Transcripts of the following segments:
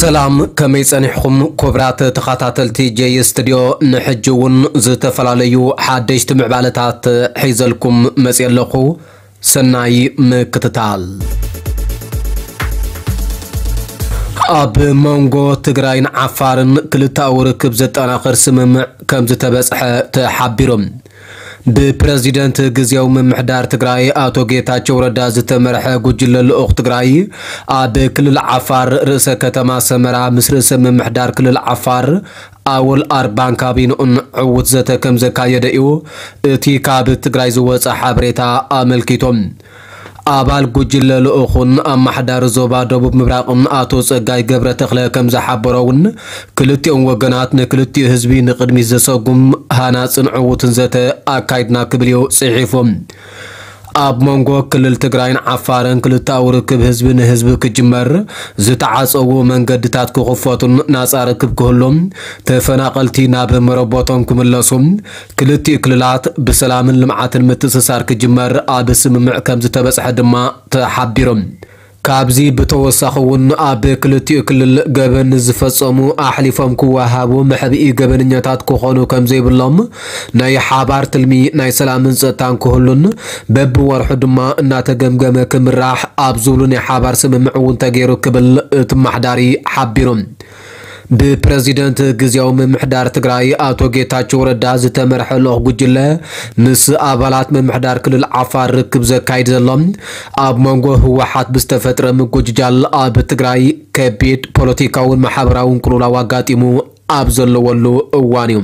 ሰላም፣ ከመይ ጸኒሕኹም ክቡራት ተኸታተልቲ ጀይ ስቱድዮ? ንሕጂ እውን ዝተፈላለዩ ሓደሽቲ ምዕባለታት ሒዘልኩም መጽየ ኣለኹ። ሰናይ ምክትታል። ኣብ መንጎ ትግራይን ዓፋርን ክልተኣዊ ርክብ ዘጠናኽር ስምምዕ ከም ዝተበጽሐ ተሓቢሩ። ብፕረዚደንት ግዝያዊ ምምሕዳር ትግራይ ኣቶ ጌታቸው ረዳ ዝተመርሐ ጉጅለ ልኡኽ ትግራይ ኣብ ክልል ዓፋር ርእሰ ከተማ ሰመራ ምስ ርእሰ ምምሕዳር ክልል ዓፋር ኣወል ኣርባን ካቢንኡን ዕዉት ዘተ ከም ዘካየደ እዩ እቲ ካብ ትግራይ ዝወጸ ሓበሬታ ኣመልኪቶም። ኣባል ጉጅለ ልኡኹን ኣማሓዳሪ ዞባ ደቡብ ምብራቕን ኣቶ ጸጋይ ገብረ ተኽለ ከም ዝሓበሮ እውን፣ ክልቲኦም ወገናት ንክልቲኡ ህዝቢ ንቕድሚት ዘሰጉም ሃናጽን ዕዉትን ዘተ ኣካይድና ክብል እዩ ጽሒፉ። ኣብ መንጎ ክልል ትግራይን ዓፋርን ክልተኣዊ ርክብ ህዝቢ ንህዝቢ ክጅመር፣ ዝተዓጸዉ መንገድታት ክኽፈቱን ናጻ ርክብ ክህሉን ተፈናቐልቲ ናብ መረቦቶም ክምለሱ፣ ክልቲኡ ክልላት ብሰላምን ልምዓትን ምትእስሳር ክጅመር ኣብ ስምምዕ ከም ዝተበጽሐ ድማ ተሓቢሩ። ካብዚ ብተወሳኺ እውን ኣብ ክልቲኡ ክልል ገበን ዝፈጸሙ ኣሕሊፎም ክወሃቡ፣ መሕብኢ ገበነኛታት ክኾኑ ከም ዘይብሎም፣ ናይ ሓባር ትልሚ ናይ ሰላምን ጸጥታን ክህሉን በብወርሑ ድማ እናተገምገመ ክምራሕ ኣብ ዝብሉ ናይ ሓባር ስምምዕ እውን ተገይሩ ክብል እቲ ኣማሓዳሪ ሓቢሩ። ብፕረዚደንት ግዝያዊ ምምሕዳር ትግራይ ኣቶ ጌታቸው ረዳ ዝተመርሐ ልኡኽ ጉጅለ ምስ ኣባላት ምምሕዳር ክልል ዓፋር ርክብ ዘካይድ ዘሎ፣ ኣብ መንጎ ህወሓት ብዝተፈጥረ ምጉጅጃል ኣብ ትግራይ ከቢድ ፖለቲካውን ማሕበራውን ቅልውላው ኣጋጢሙ ኣብ ዘለወሉ እዋን እዩ።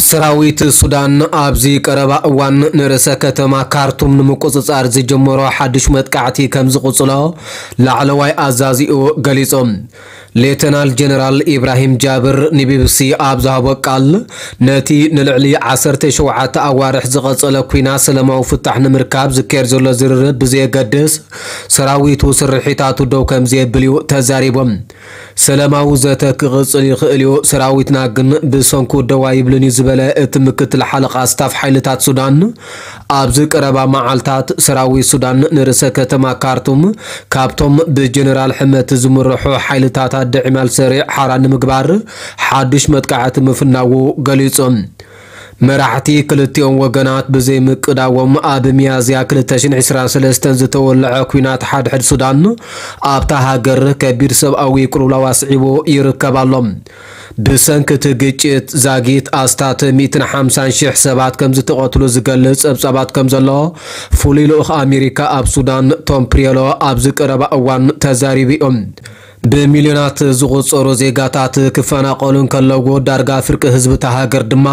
ሰራዊት ሱዳን ኣብዚ ቀረባ እዋን ንርእሰ ከተማ ካርቱም ንምቁጽጻር ዝጀመሮ ሓድሽ መጥቃዕቲ ከም ዝቕጽሎ ላዕለዋይ ኣዛዚኡ ገሊጹ። ሌተናል ጀነራል ኢብራሂም ጃብር ንቢቢሲ ኣብ ዝሃቦ ቃል፣ ነቲ ንልዕሊ ዓሰርተ ሸውዓተ ኣዋርሕ ዝቐጸለ ኲናት ሰላማዊ ፍታሕ ንምርካብ ዝካየድ ዘሎ ዝርርብ ብዘየገድስ፣ ሰራዊቱ ስርሒታቱ ደው ከም ዘየብል እዩ ተዛሪቡ። ሰላማዊ ዘተ ክቕጽል ይኽእል እዩ፣ ሰራዊትና ግን ብሰንኩ ደው ኣይብልን እዩ ዝበለ እቲ ምክትል ሓለቓ ስታፍ ሓይልታት ሱዳን፣ ኣብዚ ቀረባ መዓልታት ሰራዊት ሱዳን ንርእሰ ከተማ ካርቱም ካብቶም ብጀነራል ሕመቲ ዝምርሑ ሓይልታት ኣደ ዒማል ሰሪዕ ሓራ ንምግባር ሓድሽ መጥቃዕቲ ምፍናዉ ገሊጹ። መራሕቲ ክልቲኦም ወገናት ብዘይምቅዳዎም ኣብ ሚያዝያ ክልተ ሽሕን ዕስራን ሰለስተን ዝተወልዐ ኲናት ሓድሕድ ሱዳን ኣብታ ሃገር ከቢድ ሰብኣዊ ቅልውላው ኣስዒቡ ይርከብ ኣሎ። ብሰንኪ እቲ ግጭት ዛጊት ኣስታት ሚእትን ሓምሳን ሽሕ ሰባት ከም ዝተቐትሉ ዝገልጽ ጸብጻባት ከም ዘሎ ፍሉይ ልኡኽ ኣሜሪካ ኣብ ሱዳን ቶም ፕሪየሎ ኣብዚ ቀረባ እዋን ተዛሪቡ እዩ። ብሚልዮናት ዝቑጸሩ ዜጋታት ክፈናቐሉ እንከለዉ፣ ዳርጋ ፍርቂ ህዝቢ እታ ሃገር ድማ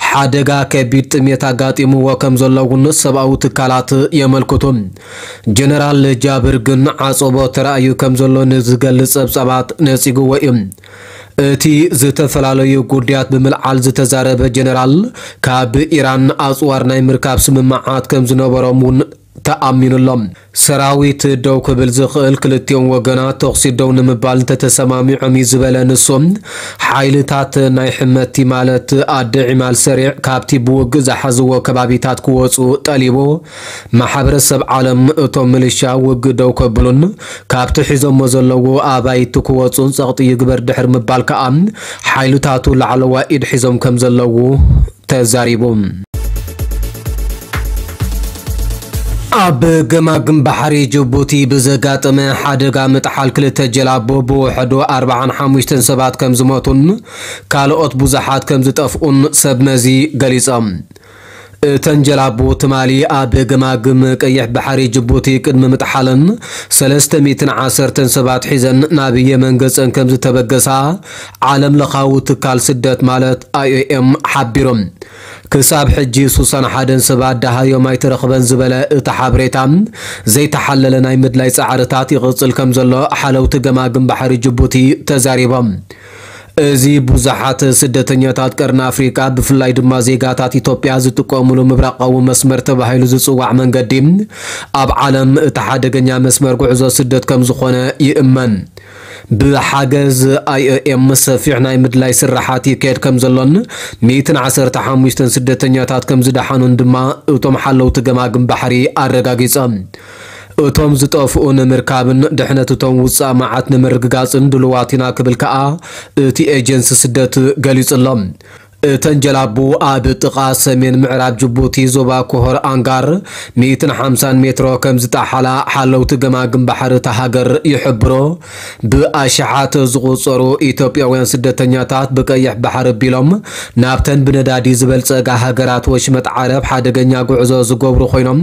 ሓደጋ ከቢድ ጥሜት ኣጋጢምዎ ከም ዘሎ እውን ሰብኣዊ ትካላት የመልክቱ። ጀነራል ጃብር ግን ዓጸቦ ተራእዩ ከም ዘሎ ንዝገልጽ ጸብጻባት ነጺግዎ እዩ። እቲ ዝተፈላለዩ ጉዳያት ብምልዓል ዝተዛረበ ጀነራል፣ ካብ ኢራን ኣጽዋር ናይ ምርካብ ስምምዓት ከም ዝነበሮም እውን ተኣሚኑሎም። ሰራዊት ደው ክብል ዝኽእል ክልቲኦም ወገናት ተኹሲ ደው ንምባል እንተተሰማሚዖም እዩ ዝበለ ንሱ፣ ሓይልታት ናይ ሕመቲ ማለት ኣደ ዒማል ሰሪዕ ካብቲ ብውግእ ዝሓዝዎ ከባቢታት ክወፁ ጠሊቡ። ማሕበረሰብ ዓለም እቶም ምልሻ ውግእ ደው ከብሉን ካብቲ ሒዞሞ ዘለዉ ኣባይቲ ክወፁን ጸቕጢ ይግበር ድሕሪ ምባል ከኣ ሓይልታቱ ላዕለዋይ ኢድ ሒዞም ከም ዘለዉ ተዛሪቡ። ኣብ ገማግም ባሕሪ ጅቡቲ ብዘጋጠመ ሓደጋ ምጥሓል ክልተ ጀላቡ ብውሕዱ ኣርባዓን ሓሙሽተን ሰባት ከም ዝሞቱን ካልኦት ብዙሓት ከም ዝጠፍኡን ሰብ መዚ ገሊጾም። እተን ጀላቡ ትማሊ ኣብ ገማግም ቀይሕ ባሕሪ ጅቡቲ ቅድሚ ምጥሓለን ሰለስተ ሚእትን ዓሰርተን ሰባት ሒዘን ናብ የመን ገጸን ከም ዝተበገሳ ዓለም ለኻዊ ትካል ስደት ማለት ኣይ ኦ ኤም ሓቢሩ። ክሳብ ሕጂ ሱሳን ሓደን ሰባት ደሃዮም ኣይተረኽበን ዝበለ እቲ ሓበሬታ፣ ዘይተሓለለ ናይ ምድላይ ጻዕርታት ይቕጽል ከም ዘሎ ሓለውቲ ገማግም ባሕሪ ጅቡቲ ተዛሪቦም። እዚ ብዙሓት ስደተኛታት ቀርኒ ኣፍሪቃ፣ ብፍላይ ድማ ዜጋታት ኢትዮጵያ ዝጥቀሙሉ ምብራቓዊ መስመር ተባሂሉ ዝጽዋዕ መንገዲ፣ ኣብ ዓለም እቲ ሓደገኛ መስመር ጉዕዞ ስደት ከም ዝኾነ ይእመን። ብሓገዝ ኣይ ኦ ኤም ሰፊሕ ናይ ምድላይ ስራሓት ይካየድ ከም ዘሎን ሚእትን ዓሰርተ ሓሙሽተን ስደተኛታት ከም ዝደሓኑን ድማ እቶም ሓለውቲ ገማግም ባሕሪ ኣረጋጊጾም። እቶም ዝጠፍኡ ንምርካብን ድሕነት እቶም ውጻእ መዓት ንምርግጋጽን ድልዋት ኢና ክብል ከኣ እቲ ኤጀንሲ ስደት ገሊጹ ኣሎ። እተን ጀላቡ ኣብ ጥቓ ሰሜን ምዕራብ ጅቡቲ ዞባ ኮሆር ኣንጋር ሚእትን ሓምሳን ሜትሮ ከም ዝጠሓላ ሓለውቲ ገማግም ባሕሪ እታ ሃገር ይሕብሩ። ብኣሽሓት ዝቑጸሩ ኢትዮጵያውያን ስደተኛታት ብቀይሕ ባሕሪ ኣቢሎም ናብተን ብነዳዲ ዝበልጸጋ ሃገራት ወሽመጥ ዓረብ ሓደገኛ ጉዕዞ ዝገብሩ ኮይኖም፣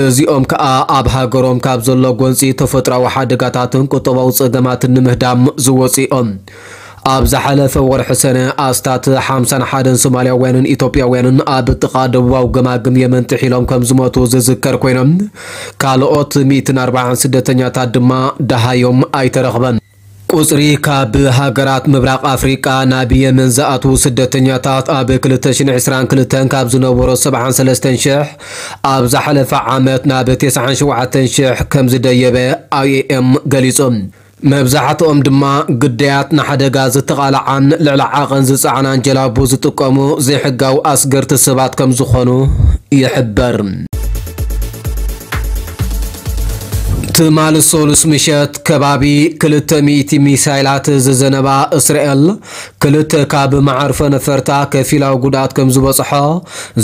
እዚኦም ከኣ ኣብ ሃገሮም ካብ ዘሎ ጎንጺ ተፈጥሮኣዊ ሓደጋታትን ቁጠባዊ ጸገማትን ንምህዳም ዝወጹ እዮም። ኣብ ዝሓለፈ ወርሒ ሰነ ኣስታት ሓምሳን ሓደን ሶማልያውያንን ኢትዮጵያውያንን ኣብ ጥቓ ደቡባዊ ገማግም የመን ጥሒሎም ከም ዝሞቱ ዝዝከር ኮይኖም፣ ካልኦት ሚእትን ኣርባዓን ስደተኛታት ድማ ደሃዮም ኣይተረኽበን። ቁጽሪ ካብ ሃገራት ምብራቕ ኣፍሪቃ ናብ የመን ዝኣትዉ ስደተኛታት ኣብ ክልተ ሽሕን ዕስራን ክልተን ካብ ዝነበሮ ሰብዓን ሰለስተን ሽሕ ኣብ ዝሓለፈ ዓመት ናብ ተስዓን ሸውዓተን ሽሕ ከም ዝደየበ ኣይ ኦ ኤም ገሊጹ። መብዛሕትኦም ድማ ግዳያት ንሓደጋ ዝተቓልዓን ልዕሊ ዓቐን ዝጸዓናን ጀላቡ ዝጥቀሙ ዘይሕጋዊ ኣስገርቲ ሰባት ከም ዝኾኑ ይሕበር። ትማሊ ሰሉስ ምሸት ከባቢ ክልተ ሚእቲ ሚሳይላት ዝዘነባ እስራኤል፣ ክልተ ካብ መዓርፎ ነፈርታ ከፊላዊ ጉድኣት ከም ዝበጽሖ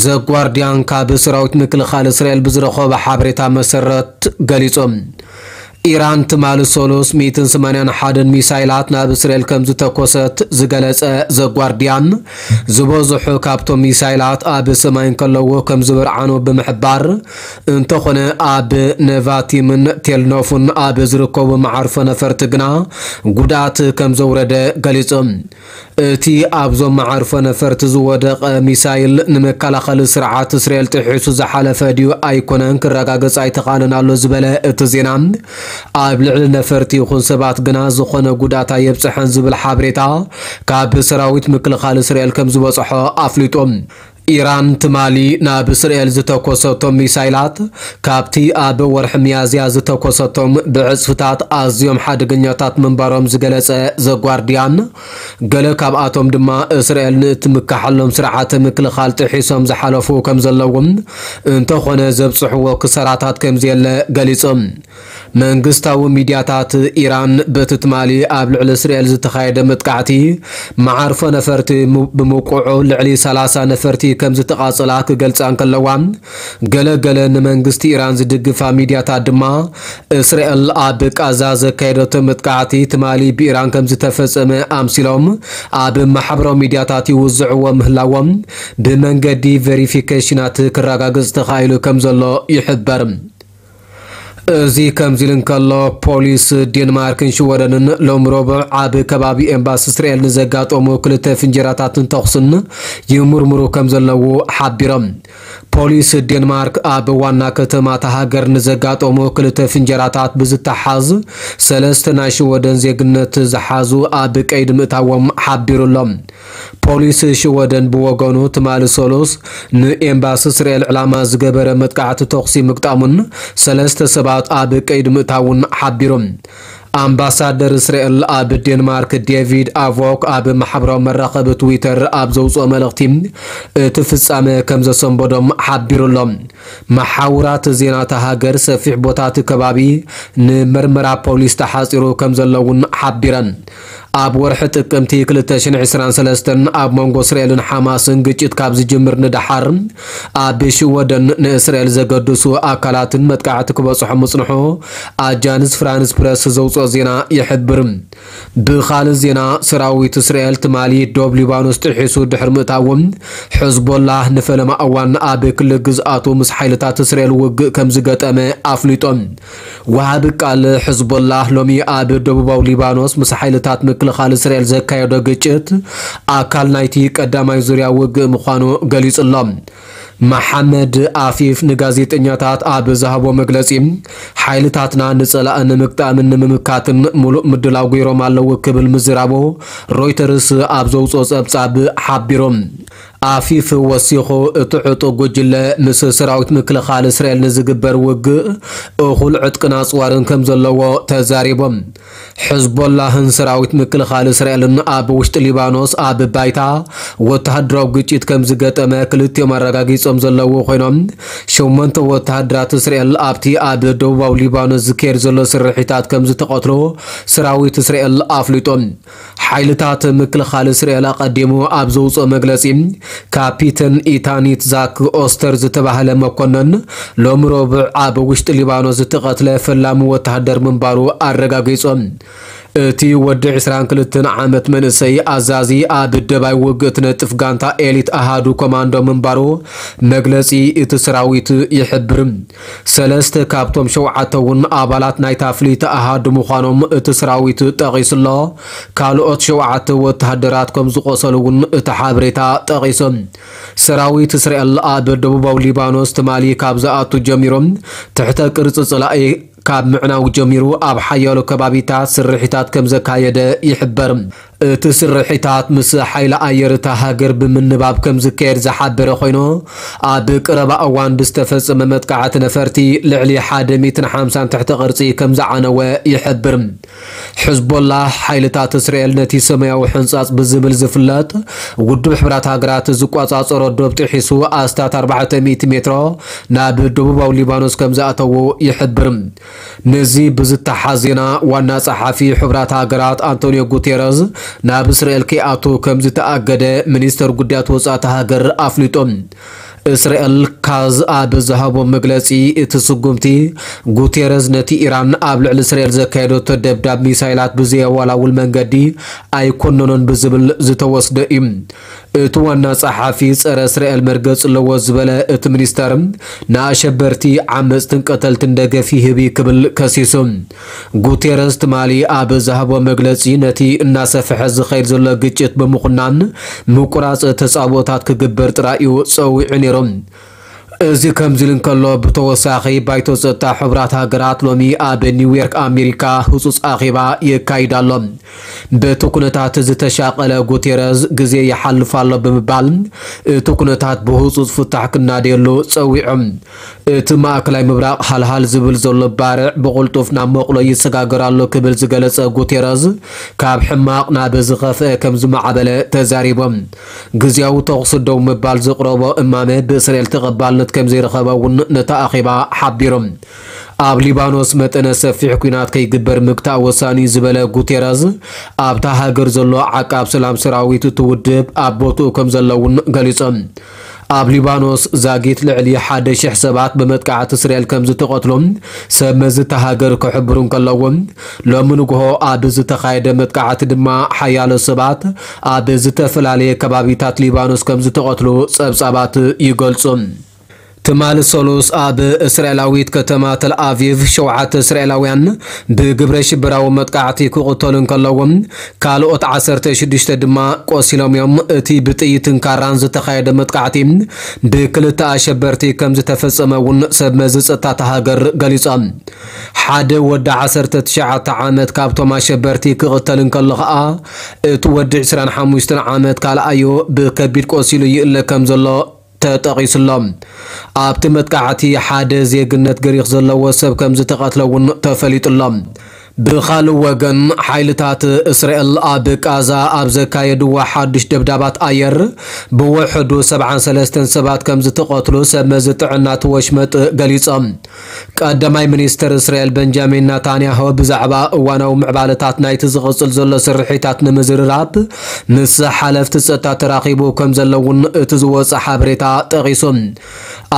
ዘጓርዲያን ካብ ሰራዊት ምክልኻል እስራኤል ብዝረኸቦ ሓበሬታ መሰረት ገሊጹ። ኢራን ትማሊ ሰሉስ ሚእትን ሰማንያን ሓደን ሚሳይላት ናብ እስራኤል ከም ዝተኮሰት ዝገለጸ ዘጓርዲያን፣ ዝበዝሑ ካብቶም ሚሳይላት ኣብ ሰማይ እንከለዉ ከም ዝበርዓኑ ብምሕባር፣ እንተኾነ ኣብ ነቫቲምን ቴልኖፉን ኣብ ዝርከቡ መዓርፎ ነፈርቲ ግና ጉድኣት ከም ዘውረደ ገሊጹ። እቲ ኣብዞም መዓርፎ ነፈርቲ ዝወደቐ ሚሳይል ንመከላኸሊ ስርዓት እስራኤል ጥሒሱ ዝሓለፈ ድዩ ኣይኮነን ክረጋገጽ ኣይተኻእለን ኣሎ ዝበለ እቲ ዜና፣ ኣብ ልዕሊ ነፈርቲ ይኹን ሰባት ግና ዝኾነ ጉድኣት ኣየብጽሐን ዝብል ሓበሬታ ካብ ሰራዊት ምክልኻል እስራኤል ከም ዝበጽሖ ኣፍሊጡ። ኢራን ትማሊ ናብ እስራኤል ዝተኮሰቶም ሚሳይላት፣ ካብቲ ኣብ ወርሒ ሚያዝያ ዝተኮሰቶም ብዕጽፍታት ኣዝዮም ሓደገኛታት ምንባሮም ዝገለጸ ዘጓርዲያን፣ ገለ ካብኣቶም ድማ እስራኤል ንእትምካሓሎም ስርዓተ ምክልኻል ጥሒሶም ዝሓለፉ ከም ዘለዎም፣ እንተኾነ ዘብጽሕዎ ክሳራታት ከም ዘየለ ገሊጾም። መንግስታዊ ሚድያታት ኢራን በቲ ትማሊ ኣብ ልዕሊ እስራኤል ዝተኻየደ መጥቃዕቲ መዓርፎ ነፈርቲ ም-፣ ብምውቅዑ ልዕሊ ሰላሳ ነፈርቲ ከም ዝተቓጸላ ክገልጻ እንከለዋ፣ ገለ ገለ ንመንግስቲ ኢራን ዝድግፋ ሚድያታት ድማ እስራኤል ኣብ ቃዛ ዘካየደቶ መጥቃዕቲ ትማሊ ብኢራን ከም ዝተፈጸመ ኣምሲሎም ኣብ ማሕበራዊ ሚድያታት ይውዝዕዎ ምህላዎም ብመንገዲ ቬሪፊኬሽናት ክረጋገጽ ተኻኢሉ ከም ዘሎ ይሕበር። እዚ ከምዚ ኢሉ እንከሎ፣ ፖሊስ ዴንማርክን ሽወደንን ሎም ረቡዕ ኣብ ከባቢ ኤምባሲ እስራኤል ንዘጋጠሙ ክልተ ፍንጀራታትን ተኹስን ይምርምሩ ከም ዘለዉ ሓቢሮም። ፖሊስ ዴንማርክ ኣብ ዋና ከተማ እታ ሃገር ንዘጋጠሙ ክልተ ፍንጀራታት ብዝተሓዝ ሰለስተ ናይ ሽወደን ዜግነት ዝሓዙ ኣብ ቀይዲ ምእታዎም ሓቢሩ ኣሎ። ፖሊስ ሽወደን ብወገኑ ትማሊ ሰሉስ ንኤምባሲ እስራኤል ዕላማ ዝገበረ መጥቃዕቲ ተኹሲ ምግጣሙን ሰለስተ ሰባት ኣብ ቀይዲ ምእታውን ሓቢሩ። ኣምባሳደር እስራኤል ኣብ ዴንማርክ ዴቪድ ኣቮክ ኣብ ማሕበራዊ መራኸቢ ትዊተር ኣብ ዘውፅኦ መልእኽቲ እቲ ፍጻመ ከም ዘሰንበዶም ሓቢሩ ኣሎ። መሓውራት ዜና እታ ሃገር ሰፊሕ ቦታ እቲ ከባቢ ንምርመራ ፖሊስ ተሓፂሩ ከም ዘሎ እውን ሓቢረን። ኣብ ወርሒ ጥቅምቲ ክልተ ሽሕን ዕስራን ሰለስተን ኣብ መንጎ እስራኤልን ሓማስን ግጭት ካብ ዝጅምር ንደሓር ኣብ ሽወደን ንእስራኤል ዘገድሱ ኣካላትን መጥቃዕቲ ክበፅሖ ምፅንሑ ኣጃንስ ፍራንስ ፕረስ ዘውፅኦ ዜና ይሕብር። ብኻልእ ዜና፣ ሰራዊት እስራኤል ትማሊ ዶብ ሊባኖስ ጥሒሱ ድሕሪ ምእታዎም፣ ሕዝቦላህ ንፈለማ እዋን ኣብ ክሊ ግዝኣቱ ምስ ሓይልታት እስራኤል ውግእ ከም ዝገጠመ ኣፍሊጦም። ወሃቢ ቃል ሕዝቦላህ ሎሚ ኣብ ደቡባዊ ሊባኖስ ምስ ሓይልታት ምክልኻል እስራኤል ዘካየዶ ግጭት ኣካል ናይቲ ቀዳማይ ዙርያ ውግእ ምዃኑ ገሊጹ ኣሎ። መሓመድ ኣፊፍ ንጋዜጠኛታት ኣብ ዝሃቦ መግለጺ፣ ሓይልታትና ንጸላኢ ንምግጣምን ንምምካትን ምሉእ ምድላው ገይሮም ኣለዉ ክብል ምዝራቡ ሮይተርስ ኣብ ዘውጽኦ ጸብጻብ ሓቢሩ። ኣፊፍ ወሲኹ፣ እቲ ዕጡቕ ጉጅለ ምስ ሰራዊት ምክልኻል እስራኤል ንዝግበር ውግእ እኹል ዕጥቅን ኣጽዋርን ከም ዘለዎ ተዛሪቦም። ሕዝቦላህን ሰራዊት ምክልኻል እስራኤልን ኣብ ውሽጢ ሊባኖስ ኣብ ባይታ ወተሃደራዊ ግጭት ከም ዝገጠመ ክልቲኦም ኣረጋጊጾም ዘለዉ ኮይኖም፣ ሸሞንተ ወተሃደራት እስራኤል ኣብቲ ኣብ ደቡባዊ ሊባኖስ ዝካየድ ዘሎ ስርሒታት ከም ዝተቐትሎ ሰራዊት እስራኤል ኣፍሊጦም። ሓይልታት ምክልኻል እስራኤል ኣቐዲሙ ኣብ ዘውፅኦ መግለፂ፣ ካፒተን ኢታኒት ዛክ ኦስተር ዝተባህለ መኮነን ሎሚ ረቡዕ ኣብ ውሽጢ ሊባኖስ ዝተቐትለ ፈላሚ ወተሃደር ምንባሩ ኣረጋጊጾም። እቲ ወዲ ዕስራን ክልተን ዓመት መንእሰይ ኣዛዚ ኣብ ደባይ ውግእ ትነጥፍ ጋንታ ኤሊት ኣሃዱ ኮማንዶ ምንባሩ መግለጺ እቲ ሰራዊት ይሕብር። ሰለስተ ካብቶም ሸውዓተ እውን ኣባላት ናይታ ፍልይቲ ኣሃዱ ምዃኖም እቲ ሰራዊት ጠቒሱ ኣሎ። ካልኦት ሸውዓተ ወተሃደራት ከም ዝቖሰሉ እውን እቲ ሓበሬታ ጠቒሱ። ሰራዊት እስራኤል ኣብ ደቡባዊ ሊባኖስ ትማሊ ካብ ዝኣቱ ጀሚሮም ትሕተ ቅርጺ ጽላኢ ካብ ምዕናው ጀሚሩ ኣብ ሓያሎ ከባቢታት ስርሒታት ከም ዘካየደ ይሕበር። እቲ ስርሒታት ምስ ሓይሊ ኣየር እታ ሃገር ብምንባብ ከም ዝካየድ ዝሓበረ ኮይኑ፣ ኣብ ቀረባ እዋን ብዝተፈጸመ መጥቃዕቲ ነፈርቲ ልዕሊ ሓደ ሚእትን ሓምሳን ትሕተ ቅርጺ ከም ዝዓነወ ይሕብር። ሕዝቦላህ ሓይልታት እስራኤል ነቲ ሰማያዊ ሕንጻጽ ብዝብል ዝፍለጥ ውድብ ሕብራት ሃገራት ዝቆጻጸሮ ዶብ ጥሒሱ ኣስታት ኣርባዕተ ሚእቲ ሜትሮ ናብ ደቡባዊ ሊባኖስ ከም ዝኣተዎ ይሕብር። ነዚ ብዝተሓዝ ዜና ዋና ጸሓፊ ሕብራት ሃገራት ኣንቶኒዮ ጉቴረዝ ናብ እስራኤል ከይኣቱ ከም ዝተኣገደ ሚኒስተር ጉዳያት ወጻኢ እታ ሃገር ኣፍሊጡ። እስራኤል ካዝ ኣብ ዝሃቦ መግለጺ፣ እቲ ስጉምቲ ጉቴረዝ ነቲ ኢራን ኣብ ልዕሊ እስራኤል ዘካየደቶ ደብዳብ ሚሳይላት ብዘየወላውል መንገዲ ኣይኮነኖን ብዝብል ዝተወስደ እዩ። እቲ ዋና ጸሓፊ ጸረ እስራኤል መርገጽ ኣለዎ ዝበለ እቲ ሚኒስተር፣ ንኣሸበርቲ ዓመጽትን ቀተልትን ደገፍ ይህብ እዩ ክብል ከሲሱ። ጉቴረዝ ትማሊ ኣብ ዝሃቦ መግለጺ፣ ነቲ እናሰፍሐ ዝኸይድ ዘሎ ግጭት ብምኹናን ምቁራጽ ተጻብኦታት ክግበር ጥራይ እዩ ጸዊዑ ነይሩ። እዚ ከምዚ ኢሉ እንከሎ፣ ብተወሳኺ ባይቶ ጸጥታ ሕቡራት ሃገራት ሎሚ ኣብ ኒውዮርክ ኣሜሪካ ህጹጽ ኣኼባ የካይድ ኣሎ። በቲ ኩነታት ዝተሻቐለ ጉቴረዝ፣ ግዜ ይሓልፍ ኣሎ ብምባል እቲ ኩነታት ብህጹጽ ፍታሕ ክናደየሉ ጸዊዖም። እቲ ማእከላይ ምብራቕ ሃልሃል ዝብል ዘሎ ባርዕ ብቕልጡፍ ናብ መቕሎ ይሰጋገር ኣሎ ክብል ዝገለጸ ጉቴረዝ፣ ካብ ሕማቕ ናብ ዝኸፍአ ከም ዝማዕበለ ተዛሪቦም። ግዝያዊ ተኹሲ ደው ምባል ዘቕረቦ እማመ ብእስራኤል ተቐባልነት ከም ዘይረኸበ እውን ነታ ኣኼባ ሓቢሮም። ኣብ ሊባኖስ መጠነ ሰፊሕ ኲናት ከይግበር ምግታእ ወሳኒ እዩ ዝበለ ጉቴረዝ፣ ኣብታ ሃገር ዘሎ ዓቃብ ሰላም ሰራዊት እቲ ውድብ ኣብ ቦትኡ ከም ዘሎ እውን ገሊጾም። ኣብ ሊባኖስ ዛጊት ልዕሊ ሓደ ሽሕ ሰባት ብመጥቃዕቲ እስራኤል ከም ዝተቐትሉ ሰብ መዚ እታ ሃገር ክሕብሩ እንከለዉ፣ ሎሚ ንግሆ ኣብ ዝተኻየደ መጥቃዕቲ ድማ ሓያሎ ሰባት ኣብ ዝተፈላለየ ከባቢታት ሊባኖስ ከም ዝተቐትሉ ጸብጻባት ይገልጹ። ትማሊ ሰሉስ ኣብ እስራኤላዊት ከተማ ተል ኣቪቭ ሸውዓተ እስራኤላውያን ብግብረ ሽበራዊ መጥቃዕቲ ክቕተሉ እንከለዉ፣ ካልኦት ዓሰርተ ሽዱሽተ ድማ ቆሲሎም እዮም። እቲ ብጥይትን ካራን ዝተኻየደ መጥቃዕቲ ብክልተ ኣሸበርቲ ከም ዝተፈጸመ እውን ሰብ መዚ ጸጥታ እታ ሃገር ገሊጾም። ሓደ ወዲ ዓሰርተ ትሽዓተ ዓመት ካብቶም ኣሸበርቲ ክቕተል እንከሎ ኸኣ፣ እቲ ወዲ ዕስራን ሓሙሽተን ዓመት ካልኣዩ ብከቢድ ቆሲሉ ይእለ ከም ዘሎ ተጠቒሱሎም። ኣብቲ መጥቃዕቲ ሓደ ዜግነት ግሪኽ ዘለዎ ሰብ ከም ዝተቐትለ እውን ተፈሊጡሎም። ብኻልእ ወገን፣ ሓይልታት እስራኤል ኣብ ቃዛ ኣብ ዘካየድዎ ሓድሽ ደብዳባት ኣየር፣ ብውሕዱ ሰብዓን ሰለስተን ሰባት ከም ዝተቐትሉ ሰብ መዚ ጥዕና እቲ ወሽመጥ ገሊጾም። ቀዳማይ ሚኒስተር እስራኤል በንጃሚን ናታንያሁ ብዛዕባ እዋናዊ ምዕባለታት ናይቲ ዝቕጽል ዘሎ ስርሒታት ንምዝርራብ ምስ ሓለፍቲ ጸጥታ ተራኺቡ ከም ዘሎ እውን እቲ ዝወጸ ሓበሬታ ጠቒሱ።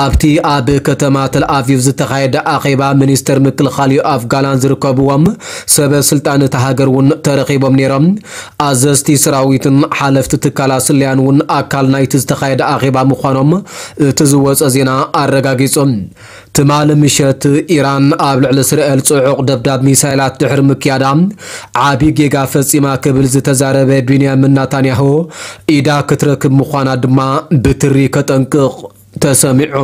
ኣብቲ ኣብ ከተማ ተል ኣቪቭ ዝተኻየደ ኣኼባ፣ ሚኒስተር ምክልኻል ዮኣፍ ጋላንት ዝርከብዎም ሰበ ስልጣን እታ ሃገር እውን ተረኺቦም ነይሮም። ኣዘዝቲ ሰራዊትን ሓለፍቲ ትካላት ስለያን እውን ኣካል ናይቲ ዝተኻየደ ኣኼባ ምዃኖም እቲ ዝወጸ ዜና ኣረጋጊጹ። ትማሊ ምሸት፣ ኢራን ኣብ ልዕሊ እስራኤል ጽዑቕ ደብዳብ ሚሳይላት ድሕሪ ምክያዳ፣ ዓቢ ጌጋ ፈጺማ ክብል ዝተዛረበ ቢንያሚን ናታንያሁ፣ ኢዳ ክትረክብ ምዃና ድማ ብትሪ ከጠንቅቕ ተሰሚዑ።